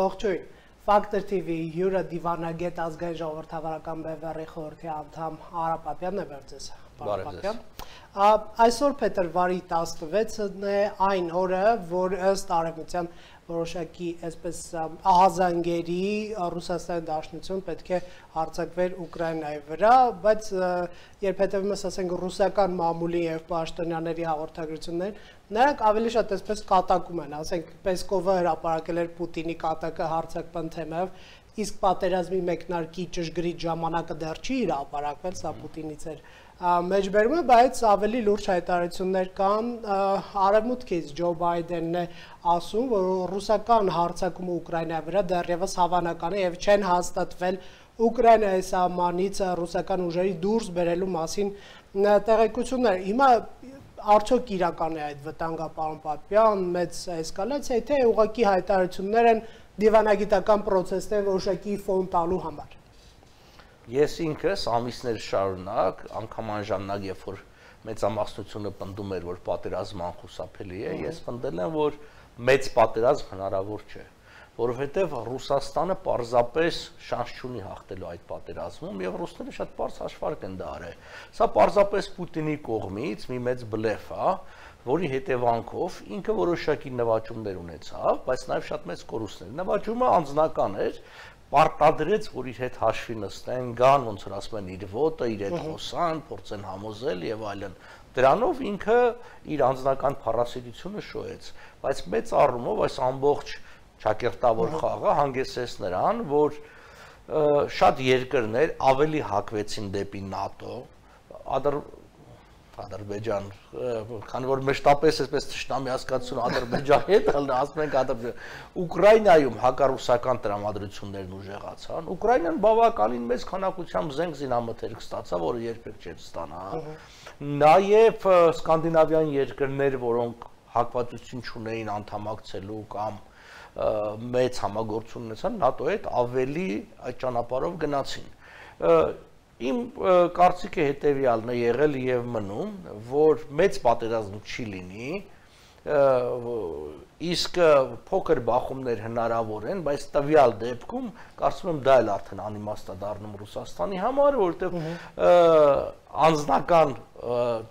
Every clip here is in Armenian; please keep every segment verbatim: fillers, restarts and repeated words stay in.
Ողջույն, Factor T V հյուրը դիվանագետ ազգային ժողովրդավարական բևեռի խորհրդի անդամ Արա Պապյանն է վերցես։ Բարև։ Այսօր փետրվարի տասնվեցն է այն օրը, որ ըստ արևմտյան որոշակի այսպես ահազանգերի Ռուսաստանի Դաշնություն պետք է հարձակվեր Ուկրաինայի վրա, բայց երբ հետևում ես ասենք ռուսական մամուլի եւ պաշտոնյաների հաղորդագրություններ, նրանք ավելի շատ այսպես կատակում են, ասենք Պեսկովը հրապարակել էր Պուտինի կատակը հարձակման թեմայով, իսկ պատերազմի մեկնարկի ճշգրիտ ժամանակը դեռ չի հրապարակվել, սա Պուտինից էր մեջբերումը, բայց ավելի լուրջ հայտարարություններ կան արևմուտքից Ջո Բայդենն է ասում, որ ռուսական հարձակումը Ուկրաինայի վրա դեռևս հավանական է եւ չեն հաստատվել Ուկրաինայի սահմանից ռուսական ուժերի դուրս բերելու մասին տեղեկություններ։ Հիմա արդյոք իրական է այդ վտանգը, պարոն Պապյան, մեծ էսկալացիա, թե ուղղակի հայտարարություններ են դիվանագիտական process-ներ որոշակի ֆոն տալու համար։ Ես ինքս ամիսներ շարունակ, անգամ անժամանակ, երբ որ մեծամասնությունը պնդում էր, որ պատերազմը անխուսափելի է, ես պնդել եմ, որ մեծ պատերազմ հնարավոր չէ, որովհետև Ռուսաստանը պարզապես շանս չունի հաղթելու այդ պատերազմում եւ ռուսները շատ պարզ հաշվարկ են դա արել։ Սա պարզապես Պուտինի կողմից մի մեծ բլեֆ է, որի հետևանքով ինքը որոշակի նվաճումներ ունեցավ, բայց նաեւ շատ մեծ կորուստներ։ Նվաճումը անձնական էր, պարտադրեց, որ իր հետ հաշվի նստեն, գան, ոնց որ ասում են, իր ոտը, իր հետ խոսան, փորձեն համոզել եւ այլն։ Դրանով ինքը իր անձնական փառասիրությունը շոյեց, բայց մեծ առումով այս ամբողջ ճակերտավոր խաղը հանգեցրեց նրան, որ շատ երկրներ ավելի հակվեցին դեպի ՆԱՏՕ, Ադրբեջան, քանի որ մշտապես այսպես թշնամի հասկացություն Ադրբեջանի հետ ասում ենք Ադրբեջան, Ուկրաինայում հակառուսական տրամադրություններն ուժեղացան, Ուկրաինան բավականին մեծ քանակությամբ զենք զինամթերք ստացավ, որը երբեք չէր ստանա։ Նաև սկանդինավյան երկրներ, որոնք հակվածություն չունեին անդամակցելու կամ մեծ համագործություն ունեցան ՆԱՏՕ-ի հետ, ավելի այդ ճանապարհով գնացին։ Իմ կարծիքը հետևյալն է եղել եւ մնում, որ մեծ պատերազմ չի լինի, իսկ փոքր բախումներ հնարավոր են, բայց տվյալ դեպքում կարծում եմ դա էլ արդեն անիմաստ է դառնում Ռուսաստանի համար, որովհետեւ անձնական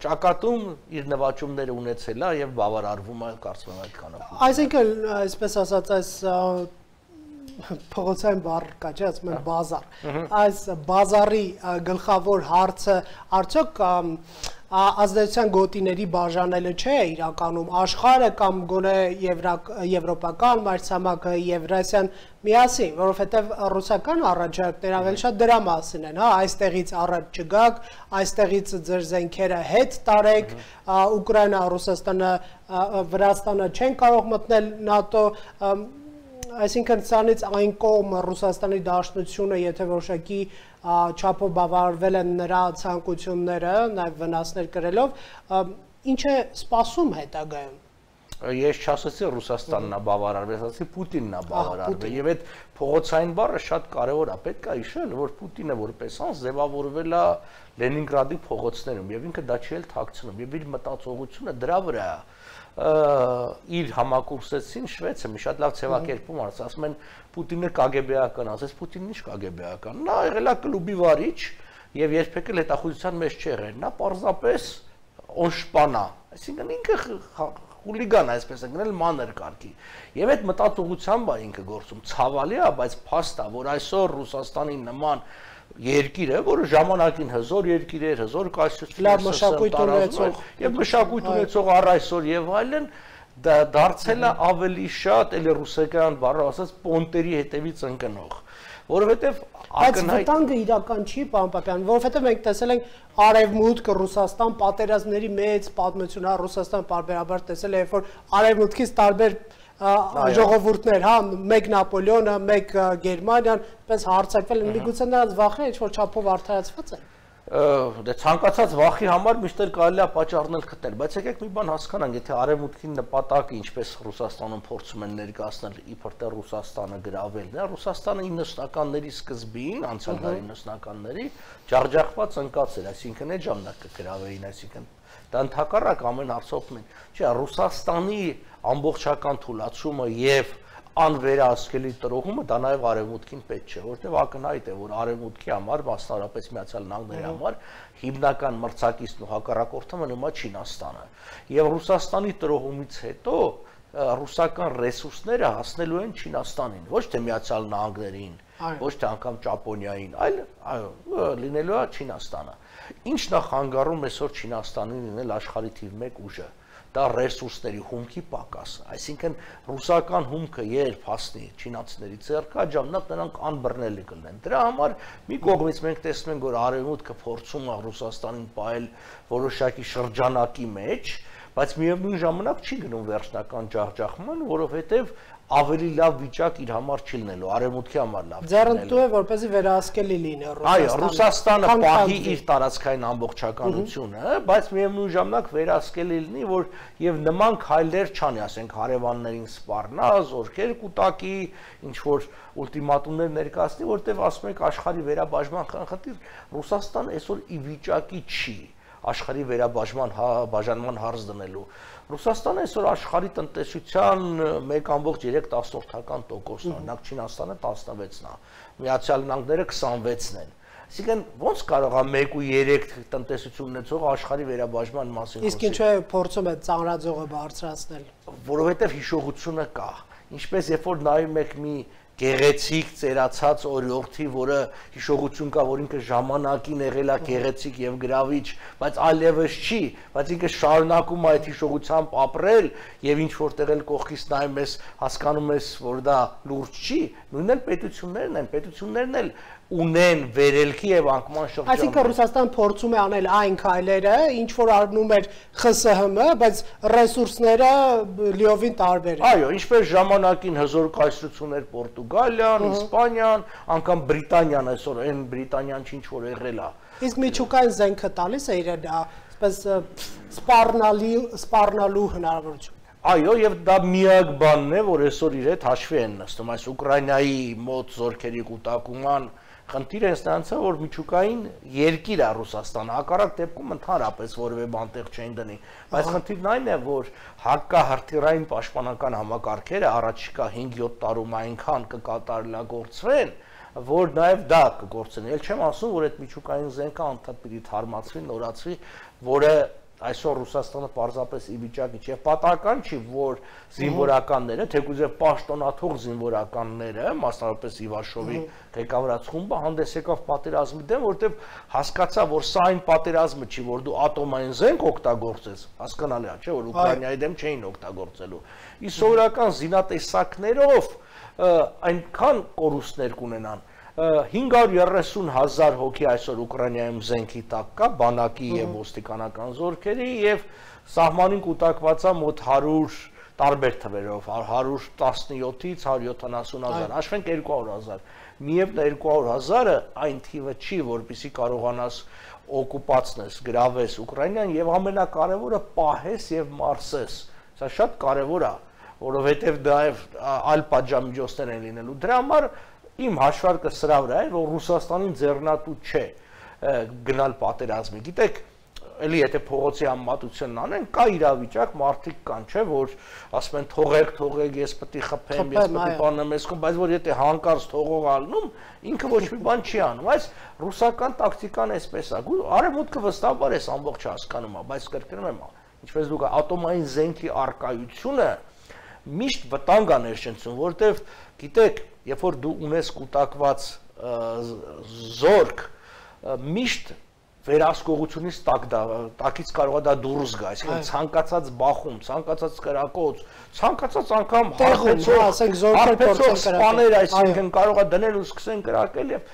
ճակատում իր նվաճումները ունեցել է եւ բավարարվում է, կարծում եմ այդքանով։ Այսինքն, այսպես ասած, այս փողոցային բառ կա, չէ՞, ասում են բազար։ Այս բազարի գլխավոր հարցը արդյոք ազդեցության գոտիների բաժանելը չէ իրականում աշխարհը կամ գոնե եվրոպական մայրցամաքը Եվրասիան միասին, որովհետև ռուսական առաջարկները ավելի շատ դրա մասին են, հա, այստեղից առաջ չգաք, այստեղից ձեր զենքերը հետ տարեք, Ուկրաինա, Ռուսաստանը, Վրաստանը չեն կարող մտնել ՆԱՏՕ, այսինքն սրանից այն կողմ Ռուսաստանի Դաշնությունը, եթե որոշակի չափով բավարարվել են նրա ցանկությունները, նաև վնասներ կրելով, ինչ է սպասում հետագայում։ Ես չասացի Ռուսաստանն է բավարարվել, ասացի Պուտինն է բավարարվել, եւ այդ փողոցային բառը շատ կարեւոր է, պետք է հիշել, որ Պուտինը որպես անձ ձևավորվել է Լենինգրադի փողոցներում եւ ինքը դա չի էլ թաքցնում, եւ իր մտածողությունը դրա վրա է։ Իր համակուրսեցին շվեդը մի շատ լավ ցեվակերպում արած, ասում են Պուտինը կագեբեական, ասես Պուտինն ինչ կագեբեական, նա եղել է կլուբի վարիչ եւ երբեք էլ հետախուզության մեջ չի եղել, նա պարզապես օշպանա, այսինքն ինքը խուլիգան, այսպես է գնել մանր կարգի։ Եվ այդ մտածողությամբ է ինքը գործում, ցավալի է, բայց փաստ է, որ այսօր Ռուսաստանի նման երկիրը, որը ժամանակին հզոր երկիր էր, հզոր կայսրություն մշակույթ ունեցող եւ մշակույթ ունեցող առ այսօր եւ այլն, դարձել է ավելի շատ էլ ռուսական բառով ասած պոնտերի հետևից ընկնող, որովհետեւ Բայց վտանգը իրական չի, պարոն Պապյան, որովհետեւ մենք տեսել ենք Արևմուտք, Ռուսաստան պատերազմների մեծ պատմություն, հա, Ռուսաստան պարբերաբար տեսել է, երբ որ Արևմուտքից տարբեր ժողովուրդներ, հա, մեկ Նապոլեոնը, մեկ Գերմանիան, պես հարձակվել են, միգուցե նրանց վախը ինչ-որ չափով արդարացված է։ Դե ցանկացած վախի համար միշտ կարելի է պատճառներ գտնել, բայց եկեք մի բան հասկանանք, եթե Արևմուտքի նպատակը ինչպես Ռուսաստանում փորձում են ներկայացնել իբր թե Ռուսաստանը գրավելն է, Ռուսաստանը իննսունականների սկզբին, անցյալ դարի իննսունականների ջախջախված ընկած էր, այսինքն այդ ժամանակ կգրավեին, այսինքն դա ընդհակառակ ամեն հարցով մեն։ Չէ, Ռուսաստանի ամբողջական թուլացումը եւ անվերահսկելի տրոհումը դա նաև արևմուտքին պետք չէ, որտեղ ակնհայտ է, որ արևմուտքի համար, մասնավորապես Միացյալ Նահանգների համար հիմնական մրցակիցն ու հակառակորդը մնում է Չինաստանը։ Եվ Ռուսաստանի տրոհումից հետո ռուսական ռեսուրսները հասնելու են Չինաստանին, ոչ թե Միացյալ Նահանգներին, ոչ թե անգամ Ճապոնիային, այլ այո, լինելու է Չինաստանը։ Ինչն է խանգարում այսօր Չինաստանին լինել աշխարհի թիվ մեկ ուժը։ Դա ռեսուրսների հումքի պակաս, այսինքն ռուսական հումքը երբ հասնի չինացիների ձեռքը, աջամնակ նրանք անբռնելի կլինեն։ Դրա համար մի կողմից մենք տեսնում ենք, որ արևմուտքը փորձում է Ռուսաստանին պահել որոշակի շրջանակի մեջ, բայց միևնույն ժամանակ չի գնում վերջնական ջախջախման, որովհետև ավելի լավ վիճակ իր համար չի լինելու, արևմուտքի համար լավ։ Ձեռնտու է, որպեսզի վերահսկելի լինի Ռուսաստանը։ Այո, Ռուսաստանը պահի իր տարածքային ամբողջականությունը, բայց միևնույն ժամանակ վերահսկելի լինի, որ եւ նման քայլեր չանի, ասենք հարևաններին սպառնա, զորքեր կուտակի, ինչ որ ուլտիմատումներ ներկայացնի, որտեղ ասում եք աշխարհի վերաբաժման խնդիր, Ռուսաստանը այսօր ի վիճակի չի աշխարհի վերաբաժման բաժանման հարց դնելու։ Ռուսաստանը այսօր աշխարհի տնտեսության մեկ կόμma երեք տոկոսն է, օրինակ Չինաստանը տասնվեցն է, Միացյալ Նահանգները քսանվեցն են։ Այսինքն ո՞նց կարող է մեկ կόμma երեք տնտեսություն ունեցող աշխարհի վերաբաժման մասին խոսել։ Իսկ ինչու է փորձում է ծանրաձողը բարձրացնել։ Որովհետև հիշողությունը կա։ Ինչպես երբ որ նայում եք մի գեղեցիկ ծերացած օրիորդի, որը հիշողություն կա, որ ինքը ժամանակին եղել է գեղեցիկ եւ գրավիչ, բայց այլևս չի, բայց ինքը շարունակում է այդ հիշողությամբ ապրել եւ ինչ որտեղ էլ կողքից նայում ես, հասկանում ես, որ դա լուրջ չի, նույնն էլ պետություններն են, պետություններն էլ ունեն վերելքի եւ անկման շրջան։ Այսինքն Ռուսաստանը փորձում է անել այն քայլերը, ինչ որ արնում էր Խ Ս Հ Մ, բայց ռեսուրսները լիովին տարբեր են։ Այո, ինչպես ժամանակին հզոր կայսրություններ Պորտուգալիան, Իսպանիան, անգամ Բրիտանիան այսօր այն Բրիտանիան ինչ որ եղել է։ Իսկ միջուկային զենքը տալիս է իրեն այսպես սպառնալի սպառնալու հնարավորություն։ Այո, եւ դա միակ բանն է, որ այսօր իր հետ հաշվի են նստում, այս Ուկրաինայի մոտ զորքերի կուտակման խնդիրը հենց որ միջուկային երկիր է Ռուսաստանը, հակառակ դեպքում ընդհանրապես որևէ բան տեղ չեն դնի, բայց խնդիրն այն է, որ հակահրթիռային պաշտպանական համակարգերը առաջիկա հինգ-յոթ տարում այնքան կկատարելագործվեն, որ նաև դա կգործեն։ Էլ չեմ ասում, որ այդ միջուկային զենքը անդադ պիտի թարմացվի, նորացվի, որը այսօր Ռուսաստանը պարզապես ի վիճակի չէ, պատահական չի, որ զինվորականները, թեկուզ եւ պաշտոնաթող զինվորականները, մասնավորապես Իվաշովի ղեկավարած խումբը հանդես եկավ պատերազմի դեմ, որտեղ հասկացա, որ սա այն պատերազմը չի, որ դու ատոմային զենք օգտագործես, հասկանալի է, չէ, որ Ուկրաինայի դեմ չէին օգտագործելու։ Իսկ սովորական զինատեսակներով այնքան կորուստներ կունենան հինգ հարյուր երեսուն հազար հոգի այսօր Ուկրաինայում զենքի տակ կա, բանակի եւ ոստիկանական զորքերի եւ սահմանին կուտակված է մոտ հարյուր տարբեր թվերով, հարյուր տասնյոթից հարյուր յոթանասուն հազար, հաշվենք երկու հարյուր հազար։ Միևնույն երկու հարյուր հազարը այն թիվը չի, որպեսզի կարողանաս օկուպացնես, գրավես Ուկրաինան եւ ամենակարևորը պահես եւ մարսես։ Սա շատ կարևոր է, որովհետեւ դա այլ պատժամիջոցներ են լինելու։ Դրա համար իմ հաշվարկը սրա վրա է, որ Ռուսաստանին ձեռնատու չէ գնալ պատերազմի։ Գիտեք, էլի եթե փողոցի համեմատությունն անեն, կա իրավիճակ, մարդիկ կան, չէ, որ ասում են թողեք, թողեք, ես պետք է խփեմ, ես պետք է բանեմ, ես խփեմ, բայց որ եթե հանկարծ թողող ալնում, ինքը ոչ մի բան չի անում, այս ռուսական տակտիկան էսպես է։ Արևմուտքը վստահաբար էս ամբողջ հասկանում է, բայց կրկնում եմ, ինչպես դուք ատոմային զենքի արկայությունը միշտ վտանգ է ներշնչում, որտեվ գիտեք, երբ որ դու ունես կուտակված զորք, միշտ վերահսկողությունից տակից կարող է դա դուրս գա, այսինքն ցանկացած բախում, ցանկացած կրակոց, ցանկացած անգամ հարբեցող սպաներ, այսինքն կարող է դնել ու սկսեն կրակել եւ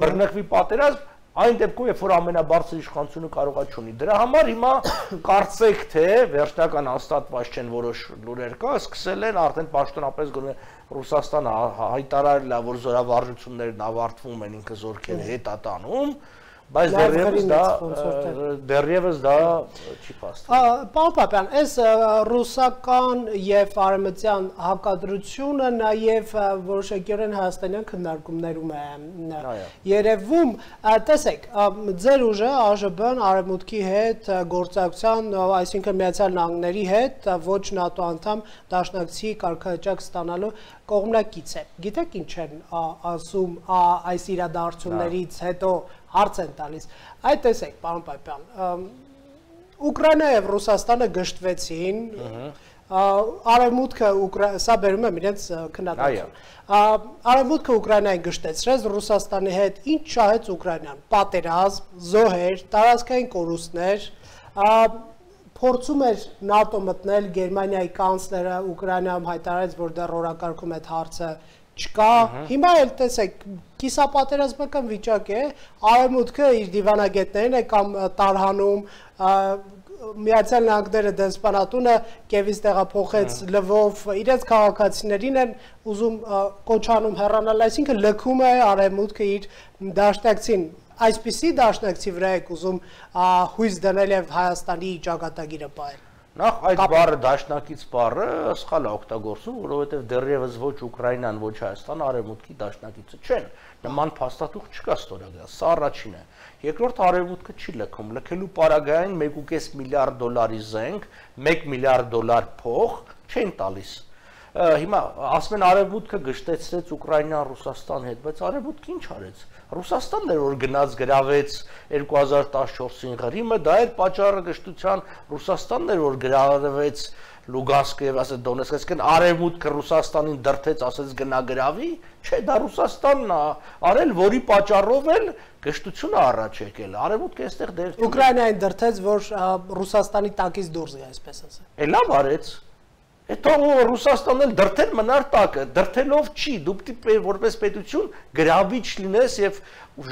բռնկվի պատերազմ, այն դեպքում, երբ որ ամենաբարձր իշխանությունը կարող է չունի։ Դրա համար հիմա կարծեք թե վերջնական հաստատված չեն որոշ լուրեր կա, սկսել են արդեն պաշտոնապես գնում Ռուսաստանը հայտարարել է, որ զորավարժություններն ավարտվում են, ինքը զորքերը հետ է տանում, բայց դեռևս դա դեռևս դա չի փաստում։ Պարոն Պապյան, այս ռուսական եւ արևմտյան հակադրությունը նաեւ որոշակիորեն հայաստանյան քննարկումներում է երևում, տեսեք, ձեր ուժը ԱԺԲ-ն արևմուտքի հետ գործակցության, այսինքն Միացյալ Նահանգների հետ ոչ ՆԱՏՕ անդամ դաշնակցի կարգավիճակ ստանալու կողմնակից է։ Գիտեք ինչ են ասում այս իրադարձություններից հետո հարց են տալիս։ Այդ տեսեք, պարոն Պապյան, Ուկրաինա եւ Ռուսաստանը գժտվեցին, արևմուտքը սա բերում եմ իրենց քննադատություն։ Արևմուտքը Ուկրաինային գժտեցրեց, Ռուսաստանի հետ ինչ շահեց Ուկրաինան՝ պատերազմ, զոհեր, տարածքային կորուստներ, փորձում էր ՆԱՏՕ մտնել, Գերմանիայի կանցլերը Ուկրաինայում հայտարարեց, որ դեռ օրակարգում այդ հարցը չկա, հիմա էլ տեսեք, կիսապատերազմական վիճակ է, արևմուտքը իր դիվանագետներին է կամ տարհանում, Միացյալ Նահանգները դեսպանատունը Կիևից տեղափոխեց Լվով, իրենց քաղաքացիներին են ուզում կոչանում հեռանալ, այսինքն լքում է արևմուտքը իր դաշնակցին, այսպիսի դաշնակցի վրա եք ուզում հույս դնել եւ Հայաստանի ճակատագիրը պահել։ Նախ այդ բառը դաշնակից բառը սխալ է օգտագործում, որովհետև դեռևս ոչ Ուկրաինան, ոչ Հայաստանը արևմուտքի դաշնակիցը չեն։ Նման փաստաթուղթ չկա ստորագրած, սա առաջինն է։ Երկրորդ, արևմուտքը չի լքում, լքելու պարագային մեկ ու կես միլիարդ դոլարի զենք, մեկ միլիարդ դոլար փող չեն տալիս։ Հիմա ասում են արևմուտքը գժտեցրեց Ուկրաինան Ռուսաստանի հետ, բայց արևմուտքը ինչ արեց։ Ռուսաստանն էր որ գնաց գրավեց երկու հազար տասնչորսին Ղրիմը, դա էր պատճառը գժտության, Ռուսաստանն էր որ գրավեց Լուգանսկը եւ ասած Դոնեցկը, այսինքն արևմուտքը Ռուսաստանին դրթեց, ասեց գնա գրավի, չէ, դա Ռուսաստանն է արել, որի պատճառով էլ գժտությունը առաջ եկել։ Արևմուտքը այստեղ դեր Ուկրաինային դրթեց, որ Ռուսաստանի տակից դուրս գա, այսպես ասած։ Է լավ արեց։ Հետո Ռուսաստանն էլ դրթել մնար տակը, դրթելով չի, դու պիտի որպես պետություն գրավիչ լինես եւ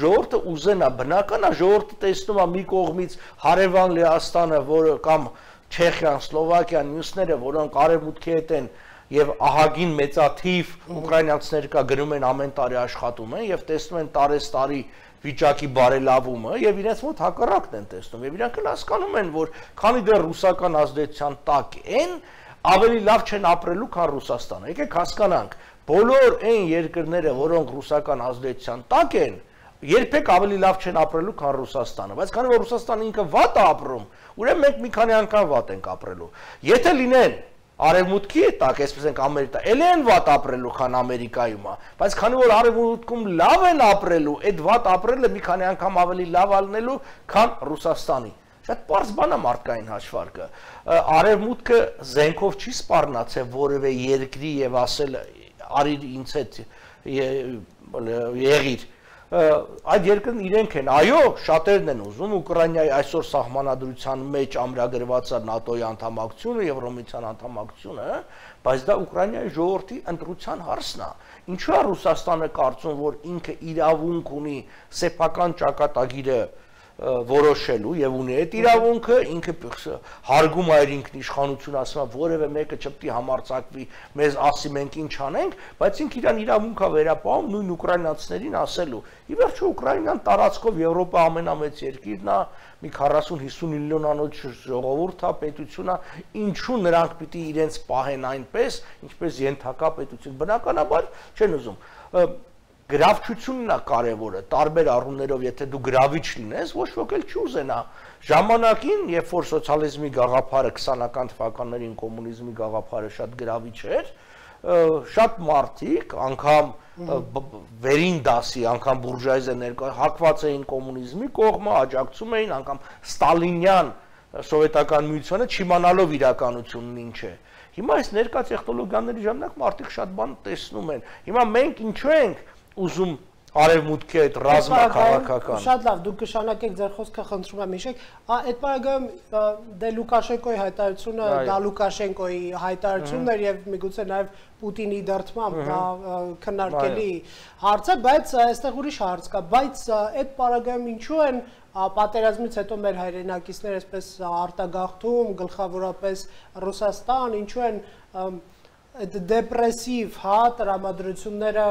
ժողովուրդը ուզենա, բնական է ժողովուրդը տեսնում է մի կողմից հարևան Լեհաստանը, որը կամ Չեխիան, Սլովակիան, մյուսները, որոնք արևմուտքի հետ են եւ ահագին մեծաթիվ ուկրաինացիներ կա գնում են ամեն տարի աշխատում են եւ տեսնում են տարեստարի վիճակի բարելավումը եւ իրենց մոտ հակառակն են տեսնում եւ իրանք հասկանում են, որ քանի դեռ ռուսական ազդեցության տակ են, ավելի լավ չեն ապրելու, քան Ռուսաստանը։ Եկեք հասկանանք, բոլոր այն երկրները, որոնք ռուսական ազդեցության տակ են, երբեք ավելի լավ չեն ապրելու, քան Ռուսաստանը, բայց քանի որ Ռուսաստանը ինքը վատ է ապրում, ուրեմն մենք մի քանի անգամ վատ ենք ապրելու։ Եթե լինեն արևմուտքի տակ, այսպես ենք Ամերիկա, ել են վատ ապրելու, քան Ամերիկայում է, բայց քանի որ արևմուտքում լավ են ապրելու, այդ վատ ապրելը մի քանի անգամ ավելի լավ ալնելու, քան Ռուսաստանի։ Շատ պարզ բան է մարդկային հաշվարկը։ Արևմուտքը զենքով չի սպառնացել որևէ երկրի եւ ասել արիր ինձ հետ եղիր։ Այդ երկրն իրենք են, այո, շատերն են ուզում Ուկրաինայի այսօր սահմանադրության մեջ ամրագրված է ՆԱՏՕ-ի անդամակցությունը, Եվրոմիության անդամակցությունը, բայց դա Ուկրաինայի ժողովրդի ընտրության հարցն է։ Ինչու է Ռուսաստանը կարծում, որ ինքը իրավունք ունի սեփական ճակատագիրը որոշելու եւ ունի այդ իրավունքը, ինքը հարգում է իր ինքնիշխանություն, ասում է որևէ մեկը չպետք է համարձակվի, մեզ ասի մենք ինչ անենք, բայց ինքը իրան իրավունքա վերապահում նույն ուկրաինացիներին ասելու։ Ի վերջո Ուկրաինան տարածքով Եվրոպա ամենամեծ երկիրն է, մի քառասուն հիսուն միլիոնանոց ժողովուրդ է, պետություն է, ինչու նրանք պիտի իրենց պահեն այնպես, ինչպես ենթակա պետություն։ Բնականաբար չեն ուզում։ Գրավչությունն է կարևորը, տարբեր առումներով, եթե դու գրավիչ լինես, ոչ ոք էլ չի ուզենա։ Ժամանակին, երբ որ սոցիալիզմի գաղափարը քսանական թվականներին կոմունիզմի գաղափարը շատ գրավիչ էր, շատ մարդիկ, անգամ վերին դասի, անգամ բուրժուազիա ներկա հակված էին կոմունիզմի կողմը, աջակցում էին, անգամ ստալինյան սովետական միությանը չիմանալով իրականությունն ինչ է։ Հիմա այս ներկա տեխնոլոգիաների ժամանակ մարդիկ շատ բան տեսնում են։ Հիմա մենք ինչու ենք ուզում արևմուտքի այդ ռազմաքաղաքական։ Շատ լավ, դուք կշանակեք ձեր խոսքը, խնդրում եմ հիշեք, այդ բaragայում դե Լուկաշենկոյի հայտարարությունը, դա Լուկաշենկոյի հայտարարությունն էր եւ միգուցե նաեւ Պուտինի դրդմամբ դա քննարկելի հարց է, բայց այստեղ ուրիշ հարց կա, բայց այդ բaragայում ինչու են պատերազմից հետո մեր հայրենակիցները այսպես արտագաղթում, գլխավորապես Ռուսաստան, ինչու են այդ դեպրեսիվ, հա, տրամադրությունները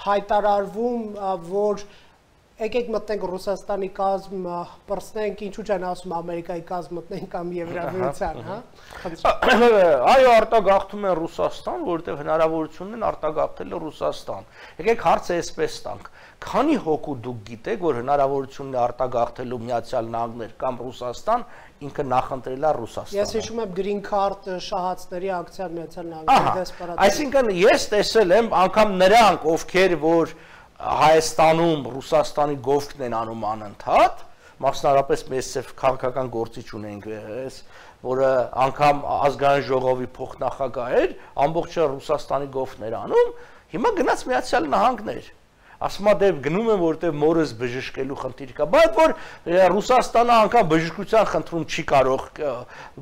հայտարարվում, որ եկեք մտնենք Ռուսաստանի կազմ, պրծնենք, ինչու չեն ասում Ամերիկայի կազմ մտնենք կամ Եվրամիության, հա։ Այո, արտագաղթում են Ռուսաստան, որովհետև հնարավորությունն են արտագաղթել Ռուսաստան։ Եկեք հարցը այսպես տանք. քանի հոգու դուք գիտեք, որ հնարավորությունն է արտագաղթելու Միացյալ Նահանգներ կամ Ռուսաստան, ինքը նախընտրել է Ռուսաստանը։ Ես հիշում եմ Green Card շահացների ակցիան Միացյալ Նահանգների դեսպարատում։ Այսինքն ես տեսել եմ անգամ նրանք, ովքեր որ Հայաստանում Ռուսաստանի գովքն են անում անընդհատ, մասնարարպես մեծ քաղաքական գործիչ ունենք, որը անգամ ազգային ժողովի փոխնախագահ էր, ամբողջը Ռուսաստանի գովքն էր անում, հիմա գնաց Միացյալ Նահանգներ։ Ասում է դե գնում եմ որտեղ մորս բժշկելու խնդիր կա, բայց որ Ռուսաստանը անգամ բժշկության խնդրում չի կարող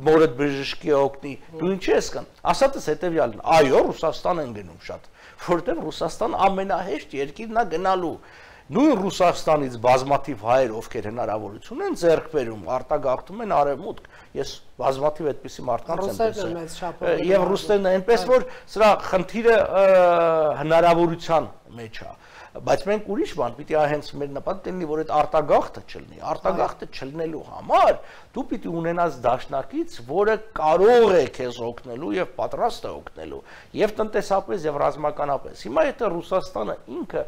մորդ բժշկի օգնի, դու ինչ ես կան։ Ասածս հետևյալն, այո, Ռուսաստան են գնում շատ, որտեղ Ռուսաստան ամենահեշտ երկիրն է գնալու։ Նույն Ռուսաստանից բազմաթիվ հայեր, ովքեր հնարավորություն են ձեռք բերում, արտագաղթում են արևմուտք։ Ես բազմաթիվ այդպիսի մարդկանց եմ տեսել։ Եվ ռուսերն այնպես որ սրա խնդիրը հնարավորության մեջ է։ Բայց մենք ուրիշ բան պիտի հենց մեր նպատակն լինի, որ այդ արտագաղթը չլինի։ Արտագաղթը չլինելու համար դու պիտի ունենաս դաշնակից, որը կարող է քեզ օգնելու եւ պատրաստ է օգնելու, եւ տնտեսապես եւ ռազմականապես։ Հիմա եթե Ռուսաստանը ինքը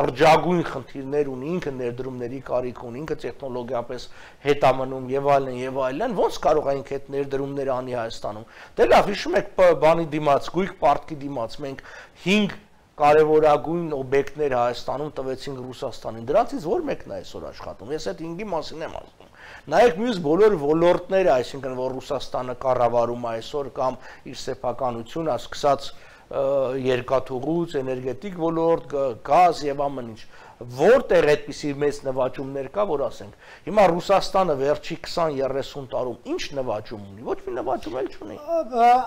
լրջագույն խնդիրներ ունի, ինքը ներդրումների կարիք ունի, ինքը տեխնոլոգիապես հետ է մնում եւ այլն եւ այլն, ոնց կարող է ինքը այդ ներդրումները անի Հայաստանում։ Դե լավ, հիշում եք բանի դիմաց, գույք պարտքի դիմաց մենք հինգ կարևորագույն օբյեկտներ Հայաստանում տվեցինք Ռուսաստանին։ Դրանցից որ մեկն է այսօր աշխատում։ Ես այդ ինգի մասին եմ ասում։ Նայեք մյուս բոլոր ոլորտները, այսինքն որ Ռուսաստանը կառավարում է այսօր կամ իր սեփականությունը, սկսած երկաթուղուց, էներգետիկ ոլորտ, գազ եւ ամեն ինչ։ Որտեղ այդպիսի մեծ նվաճումներ կա, որ ասենք։ Հիմա Ռուսաստանը վերջի քսան երեսուն տարում ինչ նվաճում ունի։ Ոչ մի նվաճում էլ չունի։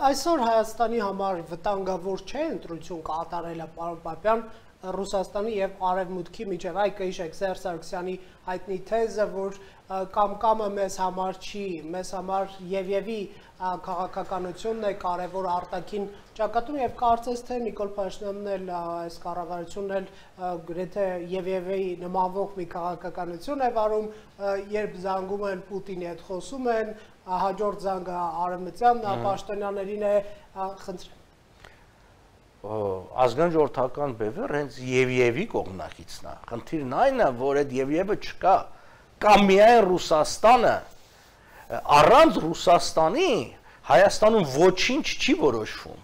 Այսօր Հայաստանի համար վտանգավոր չէ ընտրություն կատարելը, պարոն Պապյան, Ռուսաստանի եւ Արևմուտքի միջև։ Այ կհիշեք Սերժ Սարգսյանի հայտնի թեզը, որ կամ կամը մեզ համար չի, մեզ համար Եվևի քաղաքականությունն է կարևոր արտաքին ճակատում եւ կարծես թե Նիկոլ Փաշինյանն էլ այս կառավարությունն էլ գրեթե Եվևի նմանվող մի քաղաքականություն է վարում, երբ զանգում են Պուտինի հետ խոսում են, հաջորդ զանգը Արևմտյան պաշտոնյաներին է, խնդրեմ ազգային ժողովրդական բևեռ հենց Եվևի կողմնակիցն է։ Խնդիրն այն է, որ այդ Եվևը չկա, կամ միայն Ռուսաստանը, առանց Ռուսաստանի Հայաստանում ոչինչ չի որոշվում։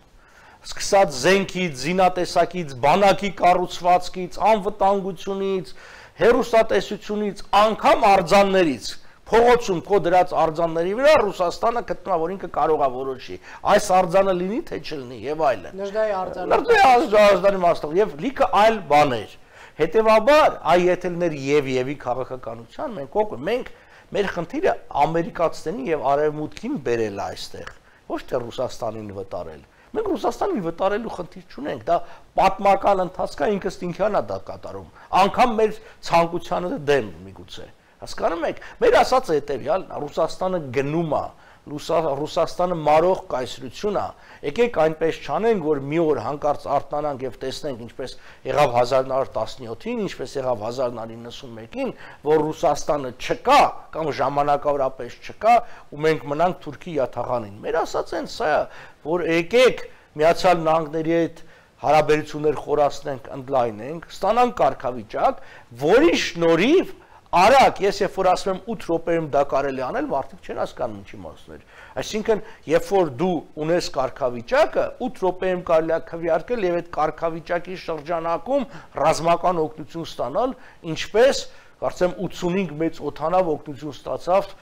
Սկսած զենքից, զինատեսակից, բանակի կառուցվածքից, անվտանգությունից, հեռուստատեսությունից, անգամ արձաններից փողոցում քո դրած արձանների վրա Ռուսաստանը գտնա, որ ինքը կարող է որոշի։ Այս արձանը լինի թե չլինի եւ այլն։ Նժդայի արձանը։ Նժդայի արձանի մասով եւ լիքը այլ բաներ։ Հետևաբար, այ եթե լներ եւ եւի քաղաքականության մենք օգ մենք մեր խնդիրը ամերիկացիներին եւ արևմուտքին բերել այստեղ, ոչ թե Ռուսաստանին վտարել։ Մենք Ռուսաստանին վտարելու խնդիր չունենք, դա պատմական ընթացք է, ինքս ինքնանա դա կատարում։ Անկամ մեր ցանկությանը դեմ միգուցե։ Հասկանում եք, մեր ասածը հետևյալ, Ռուսաստանը գնում է, Ռուսաստանը մարող կայսրություն է, եկեք այնպես չանենք, որ մի օր հանկարծ արթնանանք եւ տեսնենք ինչպես եղավ հազար նորը տասնյոթին, ինչպես եղավ հազար նորը իննսունմեկին, որ Ռուսաստանը չկա կամ ժամանակավորապես չկա ու մենք մնանք Թուրքի յաթաղանին։ Մեր ասածն սա է, որ եկեք Միացյալ Նահանգների հետ հարաբերություններ խորացնենք, ընդլայնենք, ստանանք կարգավիճակ, որի շնորհիվ Արագ, ես երբ որ ասում եմ ութ րոպեում դա կարելի անել, մարդիկ չեն հասկանում ինչի մասն էր։ Այսինքն, երբ որ դու ունես կարգավիճակը, ութ րոպեում կարելի է քվեարկել եւ այդ կարգավիճակի շրջանակում ռազմական օգնություն ստանալ, ինչպես կարծեմ ութսունհինգ մեծ օդանավ օգնություն ստացավ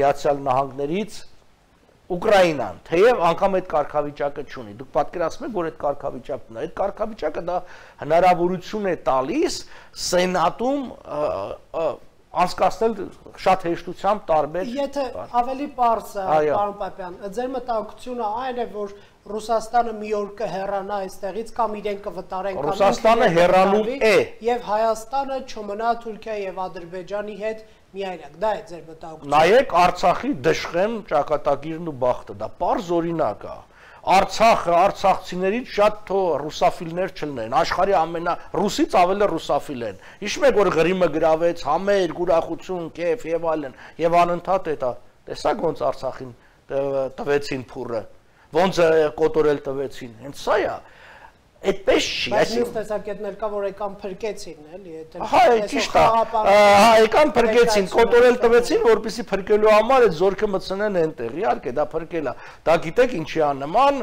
Միացյալ Նահանգներից Ուկրաինան, թեև անգամ այդ կարգավիճակը չունի։ Դուք պատկերացնում եք, որ այդ կարգավիճակն է։ Այդ կարգավիճակը դա հնարավորություն է տալիս Սենատում անցկացնել շատ հեշտությամբ տարբեր։ Եթե ավելի պարզ է, պարոն Պապյան, ձեր մտահոգությունը այն է, որ Ռուսաստանը մի օր կհեռանա այստեղից կամ իրեն կվտարեն կամ Ռուսաստանը հեռանում է եւ Հայաստանը չմնա Թուրքիա եւ Ադրբեջանի հետ միայնակ, դա է ձեր մտահոգությունը։ Նայեք Արցախի Դշխեմ ճակատագիրն ու բախտը, դա պարզ օրինակ է։ Արցախը, արցախցիներից շատ թո ռուսաֆիլներ չլինեն, աշխարհի ամենա ռուսից ավելի ռուսաֆիլ են։ Հիշում եք, որ Ղրիմը գրավեց, համեր, ուրախություն, կեֆ եւ այլն, եւ անընդհատ է դա։ Տեսակ ոնց Արցախին տվեցին փուրը, ոնց կոտորել տվեցին։ Հենց սա է։ Այդպես չի, այսինքն մյուս տեսակետներ կա, որ եկան փրկեցին, էլի, դա հա, ճիշտ է։ Հա, եկան փրկեցին, կոտորել տվեցին, որպեսզի փրկելու համար այդ զորքը մտցնեն այնտեղ։ Իհարկե, դա փրկել է։ Դա գիտեք ինչի է նման,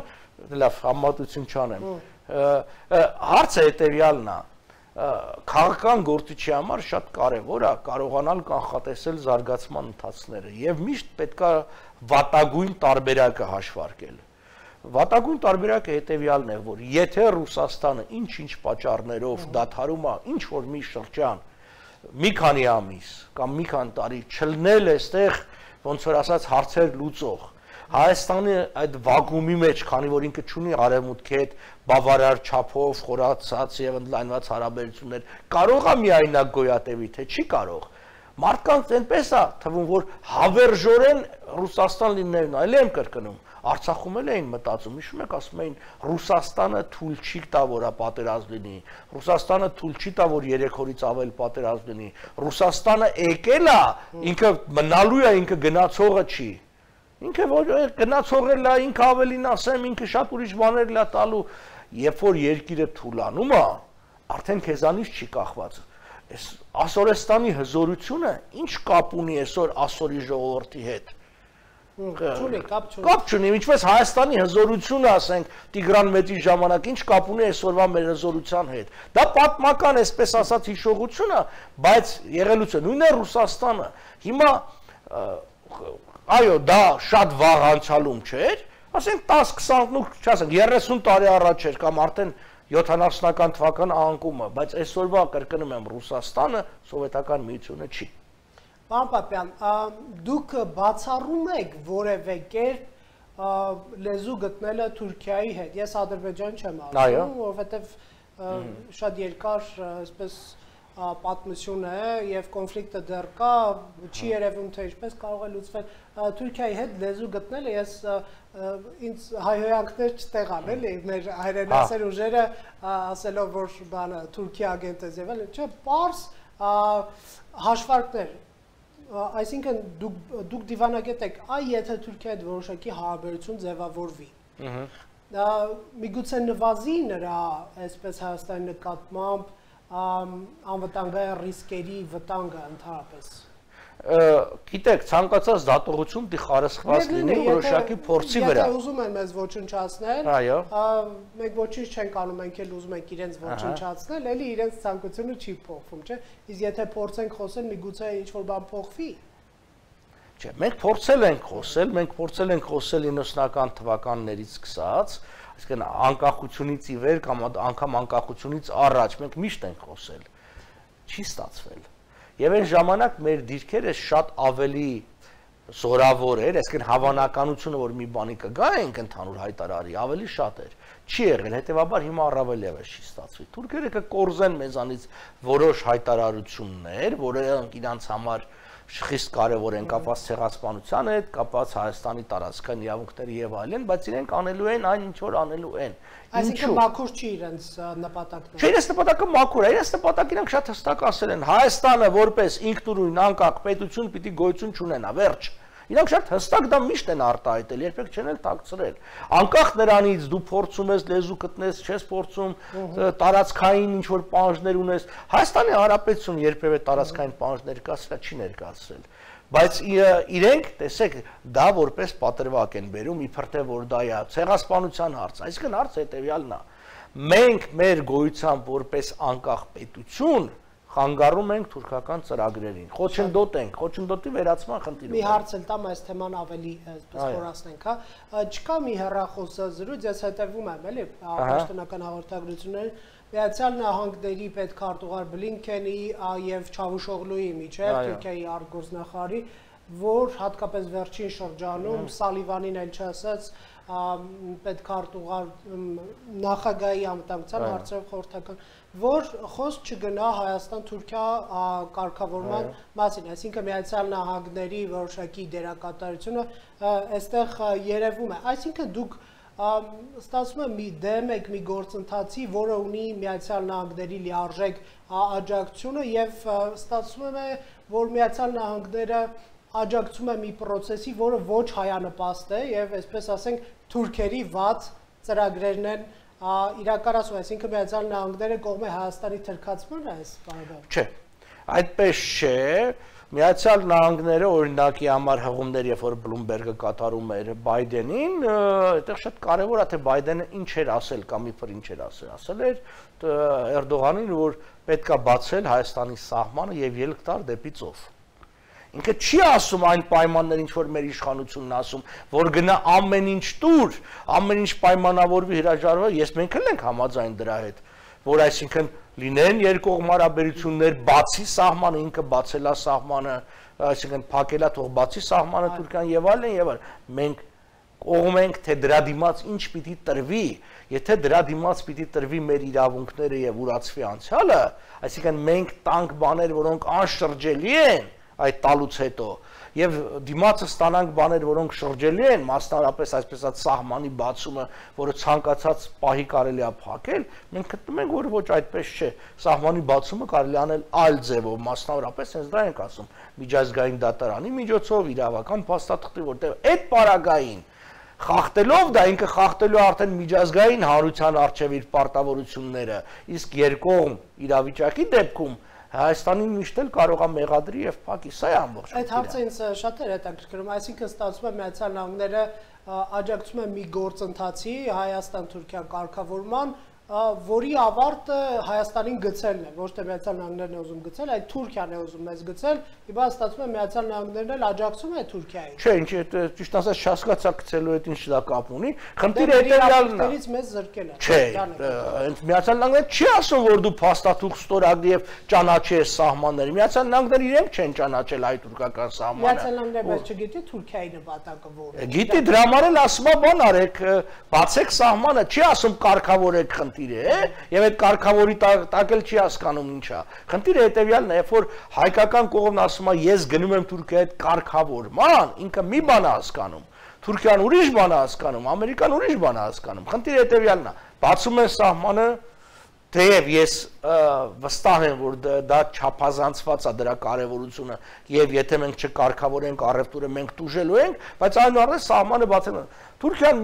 լավ, համատություն չանեմ։ Հարցը հետեւյալն է։ Քաղաքական գործիչի համար շատ կարևոր է կարողանալ կանխատեսել զարգացման ընթացքները եւ միշտ պետքա վատագույն տարբերակը հաշվարկել։ Վատագույն տարբերակը հետեւյալն է, որ եթե Ռուսաստանը ինչ-ինչ պատճառներով դադարում է ինչ որ մի շրջան, մի քանի ամիս կամ մի քանի տարի չլնել էստեղ ոնց որ ասած հարցեր լուծող, Հայաստանի այդ վակուումի մեջ, քանի որ ինքը չունի արևմուտքի հետ բավարար չափով խորացած եւ ընդլայնված հարաբերություններ, կարող է միայնակ գոյատևի, թե չի կարող։ Մարդկանց այնպես է թվում, որ հավերժորեն Ռուսաստան լինելն այլ եմ կրկնում։ Արցախում էլ էին մտածում, հիշում եք, ասում էին Ռուսաստանը թույլ չի տա, որ պատերազմ լինի։ Ռուսաստանը թույլ չի տա, որ երեք օրից ավել պատերազմ լինի։ Ռուսաստանը եկել է, ինքը մնալու է, ինքը գնացողը չի։ Ինքը որ գնացողել է, ինքը ավելին ասեմ, ինքը շատ ուրիշ բաներ լա տալու, երբ որ երկիրը թուլանում է, արդեն քեզանից չի կախված։ Այս Ասորեստանի հզորությունը ինչ կապ ունի այսօր Ասորի ժողովրդի հետ։ Չունի, կապ չունի։ Կապ չունի, ինչպես Հայաստանի հզորությունը, ասենք, Տիգրան Մեծի ժամանակ ինչ կապ ունի այսօրվա մեր հզորության հետ։ Դա պատմական, այսպես ասած, հիշողություն է, բայց եղելուց է, նույնն է Ռուսաստանը։ Հիմա այո, դա շատ վաղ անցյալում չէր, ասենք տասը քսան, չասենք երեսուն տարի առաջ էր կամ արդեն յոթանասունական թվական անկումը, բայց այսօրվա կրկնում եմ Ռուսաստանը սովետական միությունը չի։ Պարոն Պապյան, դուք բացառում եք որևէ կերպ լեզու գտնելը Թուրքիայի հետ։ Ես Ադրբեջան չեմ ասում, որովհետև շատ երկար այսպես պատմություն է եւ կոնֆլիկտը դեռ կա, չի երևում թե ինչպես կարող է լուծվել Թուրքիայի հետ լեզու գտնելը, ես ինձ հայհոյանքներ չտեղան, էլի, մեր հայրենասեր ուժերը ասելով, որ բանը Թուրքիա ագենտ է եղել, չէ, պարզ հաշվարկներ, այսինքն դուք դիվանագետ եք, այ եթե Թուրքիայի հետ որոշակի հարաբերություն ձևավորվի, միգուցե նվազի նրա այսպես Հայաստանի նկատմամբ անվտանգային ռիսկերի վտանգը ընդհանրապես։ Գիտեք, ցանկացած դատողություն դի խարսխված լինի որոշակի փորձի վրա։ Եթե ուզում են մեզ ոչնչացնել, մենք ոչինչ չենք անում, մենք էլ ուզում ենք իրենց ոչնչացնել, էլի իրենց ցանկությունը չի փոխվում, չէ՞։ Իսկ եթե փորձենք խոսել, միգուցե ինչ-որ բան փոխվի։ Չէ, մենք փորձել ենք խոսել, մենք փորձել ենք խոսել իննսունական թվականներից սկսած, այսինքն անկախությունից ի վեր կամ անգամ անկախությունից առաջ մենք միշտ ենք խոսել, չի ստացվել։ Եվ այն ժամանակ մեր դիրքերը շատ ավելի զորավոր էր, այսինքն հավանականությունը, որ մի բանի կգա ենք ընդհանուր հայտարարի, ավելի շատ էր։ Չի եղել, հետևաբար հիմա առավել ևս չի ստացվի։ Թուրքերը կկորզեն մեզանից որոշ հայտարարություններ, որոնք իրանց համար խիստ կարևոր են կապված ցեղասպանության հետ, կապված Հայաստանի տարածքային իրավունքների եւ այլն, բայց իրենք անելու են այն ինչ որ անելու են։ Այսինքն մաքուր չի իրենց նպատակները։ Չէ, իրենց նպատակը մաքուր է, իրենց նպատակը իրանք շատ հստակ ասել են, Հայաստանը որպես ինքնուրույն անկախ պետություն պիտի գոյություն չունենա, վերջ։ Իրանք շատ հստակ դա միշտ են արտահայտել, երբեք չեն էլ թաքցրել։ Անկախ նրանից դու փորձում ես լեզու գտնես, չես փորձում տարածքային ինչ որ պահանջներ ունես, Հայաստանի Հանրապետությունը երբևէ տարածքային պահանջներ կասրա չի ներկայացրել։ Բայց իրենք, տեսեք, դա որպես պատրվակ են բերում, իբր թե որ դա է ցեղասպանության հարց, այսինքն հարցը հետեւյալն է։ Մենք մեր գոյությամբ որպես անկախ պետություն խանգարում ենք թուրքական ծրագրերին, խոչընդոտ ենք, խոչընդոտի վերացման խնդիրում։ Մի հարց էլ տամ այս թեման ավելի այսպես խորացնենք, հա։ Չկա մի հեռախոս զրույց, ես հետևում եմ, էլի, պաշտոնական հաղորդագրություններին, Միացյալ Նահանգների պետքարտուղար Բլինքենի եւ Չավուշօղլուի միջեւ Թուրքիայի արտգործնախարարի, որ հատկապես վերջին շրջանում Սալիվանին էլ չասած պետքարտուղար նախագահի անվտանգության հարցերով խորհրդական, որ խոսք չգնա Հայաստան-Թուրքիա կարգավորման մասին, այսինքն Միացյալ Նահանգների որոշակի դերակատարությունը այստեղ երևում է, այսինքն դուք ստացվում է մի դեմ եք մի գործընթացի, որը ունի Միացյալ Նահանգների լիարժեք աջակցությունը եւ ստացվում է, որ Միացյալ Նահանգները աջակցում է մի process-ի, որը ոչ հայանպաստ է եւ այսպես ասենք թուրքերի վատ ծրագրերն են իրականացում, այսինքն Միացյալ Նահանգները կողմ է Հայաստանի թրքացմանը այս Ղարաբաղում։ Չէ, այդպես չէ, Միացյալ Նահանգները օրինակի համար հղումներ, երբ որ Բլումբերգը կատարում էր Բայդենին, այդտեղ շատ կարևոր է, թե Բայդենը ինչ էր ասել կամ իբր ինչ էր ասել, ասել էր Էրդողանին, որ պետք է բացել Հայաստանի սահմանը եւ ելք տալ դեպի ծով։ Ինքը չի ասում այն պայմաններ, ինչ որ մեր իշխանությունն ասում, որ գնա ամեն ինչ տուր, ամեն ինչ պայմանավորվի հրաժարվի, ես մենք էլ ենք համաձայն դրա հետ, որ այսինքն լինեն երկկողմ հարաբերություններ, բացի սահմանը, ինքը բացելա սահմանը, այսինքն փակելա թող բացի սահմանը Թուրքիան եւ այլն եւ այլն։ Մենք կողմ ենք, թե դրա դիմաց ինչ պիտի տրվի, եթե դրա դիմաց պիտի տրվի մեր իրավունքները եւ ուրացվի անցյալը, այսինքն մենք տանք բաներ, որոնք անշրջելի են այդ տալուց հետո եւ դիմացը ստանանք բաներ, որոնք շրջելի են, մասնավորապես այսպես ասած սահմանի բացումը, որը ցանկացած պահի կարելի է փակել, մենք գտնում ենք, որ ոչ այդպես չէ։ Սահմանի բացումը կարելի անել այլ ձևով, մասնավորապես հենց դա ենք ասում, միջազգային դատարանի միջոցով, իրավական փաստաթղթի, որտեղ այդ պարագային խախտելով դա ինքը խախտելու արդեն միջազգային հանրության արժեվ իր պարտավորությունները, իսկ երկկողմ իրավիճակի դեպքում Հայաստանին միշտ էլ կարող է մեղադրի եւ փակի, սա է ամբողջ։ Այդ հարցը ինձ շատ էր հետաքրքրում, այսինքն ստացվում է Միացյալ Նահանգները աջակցում է մի գործընթացի Հայաստան-Թուրքիա կարգավորման, որի ավարտը Հայաստանին գցելն է, ոչ թե Միացյալ Նահանգներն է ուզում գցել, այլ Թուրքիան է ուզում մեզ գցել, իբա ստացվում է Միացյալ Նահանգներն էլ աջակցում է Թուրքիային։ Չէ, ինչ է, ճիշտ ասած չհասկացա գցելու հետ ինչ դա կապ ունի, խնդիրը հետեւյալն է։ Մեզ զրկել է։ Չէ, այնց Միացյալ Նահանգները չի ասում, որ դու փաստաթուղթ ստորագրի եւ ճանաչես սահմանները։ Միացյալ Նահանգները իրենք չեն ճանաչել հայ-թուրքական սահմանը։ Միացյալ Նահանգները բայց չգիտի Թուրքիայի նպատակը որն է։ Գիտի, դրա համար էլ ասում է բան արեք, բացեք սահմանը, չի ասում կարգավորեք խնդիրը, է, եւ այդ կարգավորի տակ էլ չի հասկանում ինչա։ Խնդիրը հետեւյալն է, երբ որ հայկական կողմն ասում է ես գնում եմ Թուրքիայի հետ կարգավորման, ինքը մի բան է հասկանում։ Թուրքիան ուրիշ բան է հասկանում, Ամերիկան ուրիշ բան է հասկանում։ Խնդիրը հետեւյալն է, բացում են սահմանը, թեև ես վստահ եմ, որ դա չափազանցված է դրա կարևորությունը, եւ եթե մենք չկարգավորենք առևտուրը, մենք տուժելու ենք, բայց այնուհետեւ սահմանը բացել են։ Թուրքիան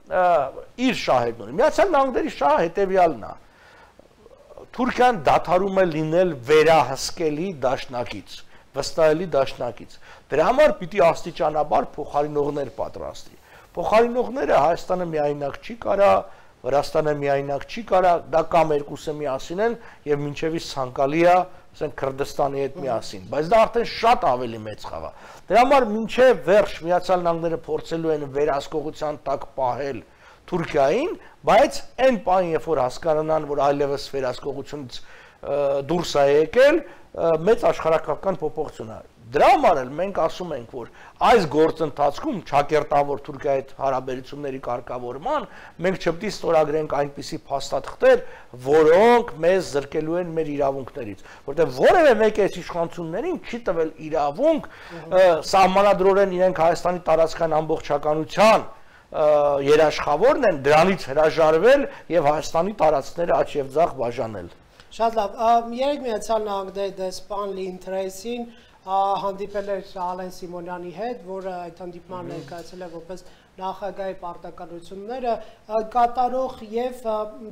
իր շահերն ունի։ Միացյալ Նահանգների շահը հետեւյալն է։ Թուրքիան դադարում է լինել վերահսկելի դաշնակից, վստահելի դաշնակից։ Դրա համար պիտի աստիճանաբար փոխարինողներ պատրաստի։ Փոխարինողները Հայաստանը միայնակ չի կարա, Վրաստանը միայնակ չի կարա, դա կամ երկուսը միասին են եւ մինչեւից ցանկալի է, ասենք Քրդստանի հետ միասին, բայց դա արդեն շատ ավելի մեծ խաղ է։ Դրա համար մինչեւ վերջ Միացյալ Նահանգները փորձելու են վերահսկողության տակ պահել Թուրքիային, բայց այն պահին, երբ որ հասկանան, որ այլևս վերահսկողությունից դուրս է եկել, մեծ աշխարհակական փոփոխություն է։ Դրա համար էլ մենք ասում ենք, որ այս գործընթացքում ճակերտավոր Թուրքիայի հետ հարաբերությունների կարգավորման մենք չպետք է ստորագրենք այնպիսի փաստաթղթեր, որոնք մեզ զրկելու են մեր իրավունքներից, որտեղ որևէ մեկը այս իշխանություններին չի տվել իրավունք սահմանադրորեն իրենք Հայաստանի տարածքային ամբողջականության երաշխավորն են դրանից հրաժարվել եւ Հայաստանի տարածքները աճ եւ ձախ բաժանել։ Շատ լավ, երեք Միացյալ Նահանգների դեսպան Լին Թրեյսին հանդիպել էր Ալեն Սիմոնյանի հետ, որը այդ հանդիպման ներկայացել է որպես նախագահի պարտականությունները կատարող եւ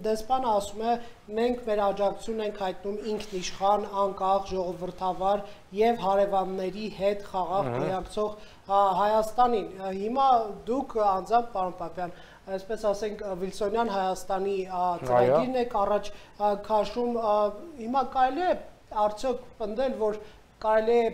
դեսպանը ասում է մենք մեր աջակցություն ենք հայտնում ինքնիշխան, անկախ, ժողովրդավար եւ հարևանների հետ խաղաղ գոյակցող Հայաստանին։ Հիմա դուք անձամբ պարոն Պապյան, այսպես ասենք Վիլսոնյան Հայաստանի ծրագիրն եք առաջ քաշում, հիմա կարելի է արդյոք պնդել, որ կարելի է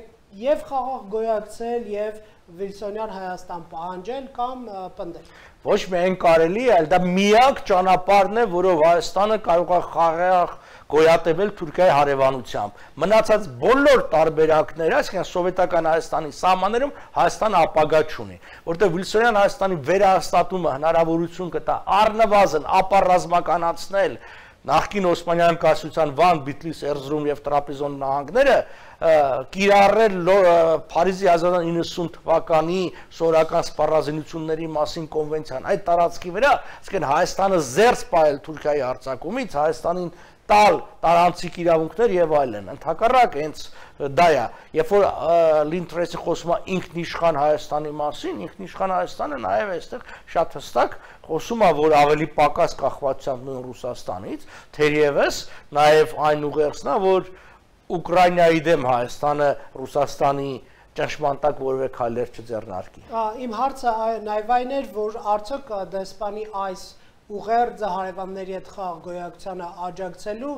եւ խաղաղ գոյակցել եւ Վիլսոնյան Հայաստան պահանջել կամ պնդել։ Ոչ միայն կարելի է, այլ դա միակ ճանապարհն է, որով Հայաստանը կարող է խաղաղ գոյատևել Թուրքիայի հարևանությամբ։ Մնացած բոլոր տարբերակները, այսինքն սովետական Հայաստանի սահմաններում Հայաստանը ապագա չունի, որտեղ Վիլսոնյան Հայաստանի վերահաստատումը հնարավորություն կտա առնվազն ապառազմականացնել նախկին Օսմանյան կայսրության Վան, Բիթլիս, Էրզրում եւ Տրապիզոն նահանգները կիրառել Փարիզի հազար ինը հարյուր իննսուն թվականի սորական սպառազինությունների մասին կոնվենցիան այդ տարածքի վրա, այսինքն Հայաստանը զերծ պահել Թուրքիայի հարձակումից, Հայաստանին տալ տարանցիկ իրավունքներ եւ այլն։ Ընդհակառակ հենց դա է, երբ որ Լինտրեսի խոսում է ինքնիշխան Հայաստանի մասին, ինքնիշխան Հայաստանը նաեւ այստեղ շատ հստակ խոսում է, որ ավելի պակաս կախվածությամբ նույն Ռուսաստանից, թերևս նաեւ այն ուղերձն է, որ Ուկրաինայի դեմ Հայաստանը Ռուսաստանի ճնշման տակ որևէ քայլեր չձեռնարկի։ Իմ հարցը նաեւ այն էր, որ արդյոք դեսպանի այս ուղերձը հարևանների հետ խաղ գոյակցությանը աջակցելու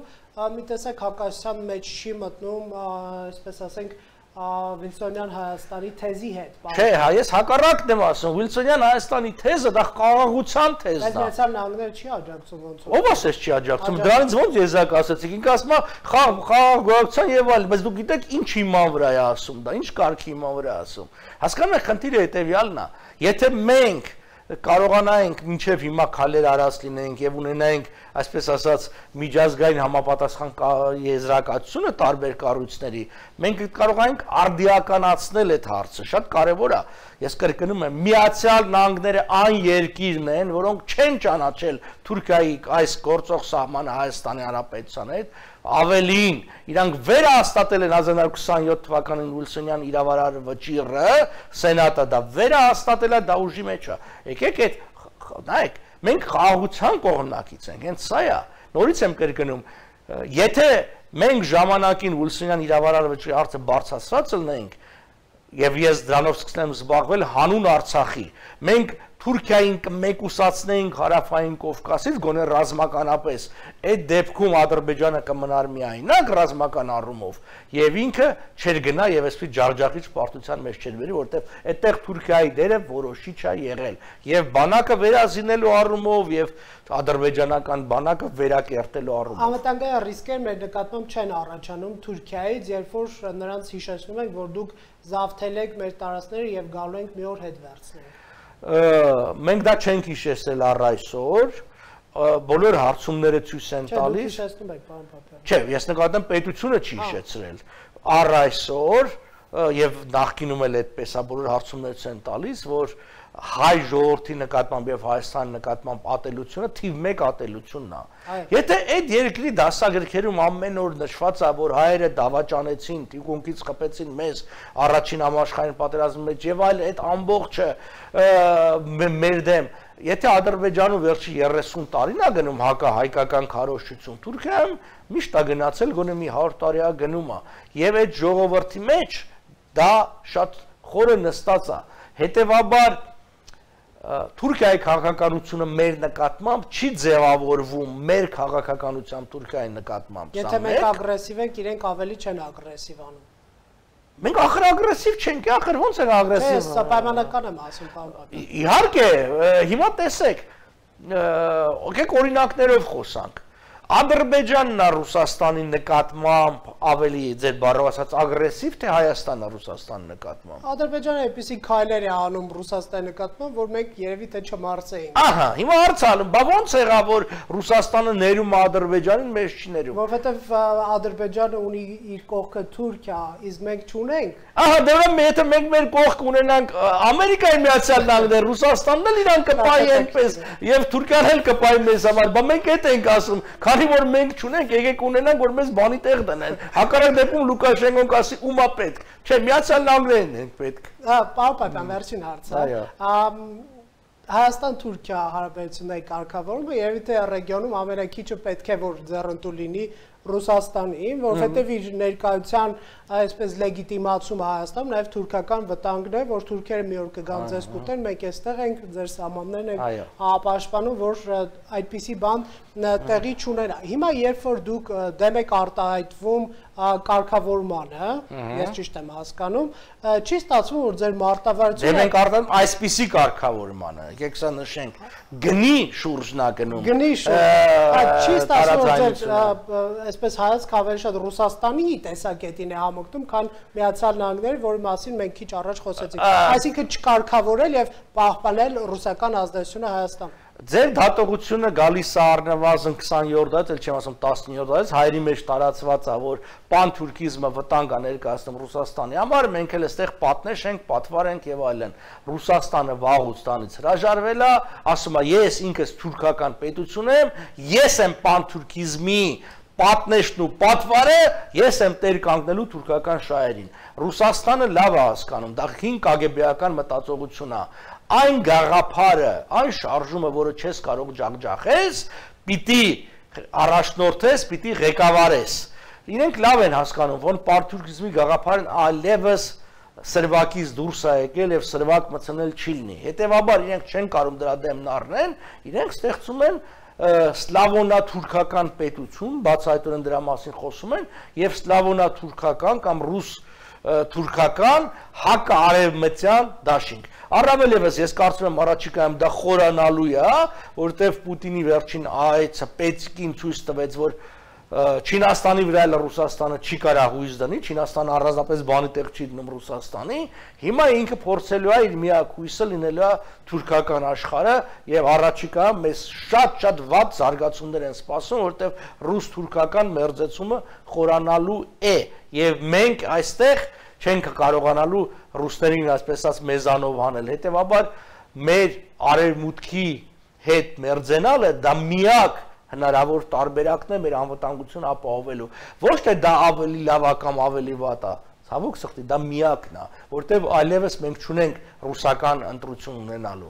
մի տեսակ հակասության մեջ չի մտնում, այսպես ասենք, Վիլսոնյան Հայաստանի թեզի հետ։ Չէ, հա, ես հակառակն եմ ասում, Վիլսոնյան Հայաստանի թեզը դա խաղաղության թեզն է։ Բայց Միացյալ Նահանգները չի աջակցում ոնց որ։ Ո՞վ ասես չի աջակցում։ Դրանից ո՞նց եզակ ասեցիք։ Ինքը ասում է խաղաղ գոյակցության եւ այլն, բայց դուք գիտեք ինչ հիման վրա է ասում դա, ինչ կարգի հիման վրա է ասում։ Հասկանում եք, խնդիրը հետեւյալն է։ Եթե մենք կարողանայինք մինչև հիմա քայլեր արած լինենք եւ ունենայինք, այսպես ասած, միջազգային համապատասխան եզրակացությունը տարբեր կառույցների, մենք կարողանանք արդիականացնել այդ հարցը, շատ կարեւոր է։ Ես կրկնում եմ, Միացյալ Նահանգները այն երկիրն են, որոնք չեն ճանաչել Թուրքիայի այս գործող սահմանը Հայաստանի Հանրապետության հետ, ավելին, իրանք վերահաստատել են հազար ինը հարյուր քսանյոթ թվականին Վիլսոնյան իրավարար վճիռը, Սենատը դա վերահաստատել է, դա ուժի մեջ է։ Եկեք այդ նայեք, մենք խաղաղության կողմնակից ենք, հենց սա է։ Նորից եմ կրկնում, եթե մենք ժամանակին Վիլսոնյան իրավարար վճիռի հարցը բարձրացրած լինենք, եւ ես դրանով սկսեմ զբաղվել հանուն Արցախի, մենք Թուրքիային կմեկուսացնեինք հարավային Կովկասից գոնե ռազմականապես, այդ դեպքում Ադրբեջանը կմնար միայնակ ռազմական առումով եւ ինքը չէր գնա եւ այսպես ջախջախիչ պարտության մեջ չէր բերի, որտեղ այդտեղ Թուրքիայի դերը որոշիչ է եղել եւ բանակը վերազինելու առումով եւ ադրբեջանական բանակը վերակերտելու առումով։ Անվտանգային ռիսկեր մեր նկատմամբ չեն առաջանում Թուրքիայից, երբ որ նրանց հիշեցնում ենք, որ դուք զավթել եք մեր տարածքները եւ գալու ենք մի օր հետ վերցնել։ Մենք դա չենք հիշեցել առ այսօր, բոլոր հարցումները ցույց են տալիս։ Չէ, հիշեցնում եք, պարոն Պապյան։ Չէ, ես նկատեմ պետությունը չի հիշեցրել։ Առ այսօր եւ նախկինում էլ այդպես է, բոլոր հարցումները ցույց են տալիս, որ հայ ժողովրդի նկատմամբ եւ Հայաստանի նկատմամբ ատելությունը թիվ մեկ ատելությունն է։ Եթե այդ երկրի դասագրքերում ամեն օր նշված է, որ հայերը դավաճանեցին, թիկունքից խփեցին մեզ առաջին համաշխարհային պատերազմի մեջ եւ այլ, այդ ամբողջը մեր դեմ, եթե Ադրբեջանում վերջի երեսուն տարին է գնում հակահայկական քարոզչություն, Թուրքիայում միշտ է գնացել գոնե մի հարյուր տարի է գնում է եւ այդ ժողովրդի մեջ դա շատ խորը նստած է։ Հետևաբար Թուրքիայի քաղաքականությունը մեր նկատմամբ չի ձևավորվում մեր քաղաքականությամբ Թուրքիայի նկատմամբ։ Եթե մենք ագրեսիվ ենք, իրենք ավելի չեն ագրեսիվ անում։ Մենք ախր ագրեսիվ չենք, ախր ո՞նց ենք ագրեսիվ։ Ես սա պայմանական եմ ասում, պարոն Պապյան։ Իհարկե, հիմա տեսեք, եկեք օրինակներով խոսանք։ Ադրբեջանն է Ռուսաստանի նկատմամբ ավելի ձեր բառով ասած ագրեսիվ, թե Հայաստանն է Ռուսաստանի նկատմամբ։ Ադրբեջանը այնպեսի քայլեր է անում Ռուսաստանի նկատմամբ, որ մենք երևի թե չմարսեինք։ Ահա, հիմա հարցալում, բա ո՞նց եղավ, որ Ռուսաստանը ներում է Ադրբեջանին, մեզ չի ներում։ Որովհետև Ադրբեջանը ունի իր կողքը Թուրքիա, իսկ մենք չունենք։ Ահա, դե ուրեմն եթե մենք մեր կողք ունենանք Ամերիկայի Միացյալ Նահանգները, Ռուսաստանն էլ իրան կպայի այնպես, եւ Թուրքիան էլ կպայի մեզ համար, բա մենք այդ ենք ասում, քանի որ մենք չունենք, եկեք ունենանք, որ մեզ բանի տեղ դնեն։ Հակառակ դեպքում Լուկաշենկոն կասի ումա պետք։ Չէ, Միացյալ Նահանգներն են պետք։ Հա, պարոն Պապյան, վերջին հարցը։ Հայաստան-Թուրքիա հարաբերությունների կարգավորումը երևի թե ռեգիոնում ամենաքիչը պետք է որ ձեռնտու լինի Ռուսաստանին, որովհետև իր ներկայության այսպես լեգիտիմացումը Հայաստանում նաև թուրքական վտանգն է, որ թուրքերը մի օր կգան ձեզ կուտեն, մենք այստեղ ենք, ձեր սահմաններն ենք ապաշտպանում, որ այդպիսի բան տեղի չունենա։ Հիմա երբ որ դուք դեմ եք արտահայտվում կարգավորմանը, ես ճիշտ եմ հասկանում, չի ստացվում, որ ձեր մարտավարությունը դեմ եք արտահայտվում այսպիսի կարգավորմանը, եկեք սա նշենք, գնի շուրջն է գնում։ Գնի շուրջ։ Չի ստացվում, որ ձեր այսպես հայացք ավելի շատ Ռուսաստանի տեսակետին է համոկնում, քան Միացյալ Նահանգների, որի մասին մենք քիչ առաջ խոսեցինք։ Այսինքն չկարգավորել եւ պահպանել ռուսական ազդեցությունը Հայաստանում։ Ձեր դատողությունը գալիս է առնվազն քսաներորդ դարից, էլ չեմ ասում տասնիններորդ դարից, հայերի մեջ տարածված է, որ պանթուրքիզմը վտանգ է ներկայացնում Ռուսաստանի համար, մենք էլ այստեղ պատնեշ ենք, պատվար ենք եւ այլն։ Ռուսաստանը վաղուց տանից հրաժարվել է, ասում է ես ինքս թուրքական պետություն եմ, ես եմ պանթուրքիզմի պատնեշն ու պատվարը, ես եմ տեր կանգնելու թուրքական շահերին։ Ռուսաստանը լավ է հասկանում, դա հին կագեբեական մտածողություն է։ Այն գաղափարը, այն շարժումը, որը չես կարող ջախջախես, պիտի առաջնորդես, պիտի ղեկավարես։ Իրենք լավ են հասկանում, որ պանթուրքիզմի գաղափարն այլևս սրվակից դուրս է եկել եւ սրվակ մտցնել չի լինի։ Հետևաբար իրենք չեն կարող դրա դեմն առնեն, իրենք ստեղծում են սլավոնա-թուրքական պետություն, բացահայտորեն դրա մասին խոսում են, եւ սլավոնա-թուրքական կամ ռուս-թուրքական հակարևմտյան դաշինք։ Առավել ևս ես կարծում եմ առաջիկայում դա խորանալու է, որտեվ Պուտինի վերջին այցը Պետսկին ցույց տվեց, որ Չինաստանի վրա էլ Ռուսաստանը չի կարող հույս դնի, Չինաստանը առանձնապես բանի տեղ չի դնում Ռուսաստանի, հիմա ինքը փորձելու է իր միակ հույսը լինելու է թուրքական աշխարհը եւ առաջիկա մեզ շատ-շատ վատ զարգացումներ են սպասում, որտեվ ռուս-թուրքական մերձեցումը խորանալու է եւ մենք այստեղ չենք կարողանալու ռուսներին այսպես ասած մեզանով անել, հետեւաբար մեր արևմուտքի հետ մերձենալը դա միակ հնարավոր տարբերակն է մեր անվտանգությունը ապահովելու։ Ոչ թե դա ավելի լավ է կամ ավելի վատ է, ցավոք սրտի դա միակն է, որտեղ այլևս մենք չունենք ռուսական ընտրություն ունենալու։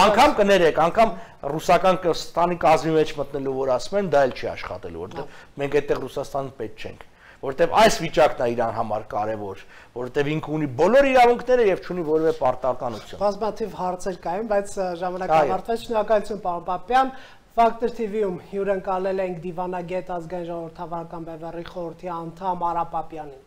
Անկամ կներեք, անկամ ռուսական Կրստանի կազմի մեջ մտնելու որ ասում են, դա էլ չի աշխատելու, որտեղ մենք այդտեղ Ռուսաստան պետք չենք, որտեղ այս վիճակն է իրան համար կարևոր, որտեղ ինքը ունի բոլոր իրավունքները եւ չունի որևէ պարտականություն։ Բազմաթիվ հարցեր կային, բայց ժամանակը ավարտվեց։ Շնորհակալություն, պարոն Պապյան։ Factor T V-ում հյուրընկալել ենք դիվանագետ ազգային ժողովրդավարական բևեռի խորհրդի անդամ Արա Պապյանին։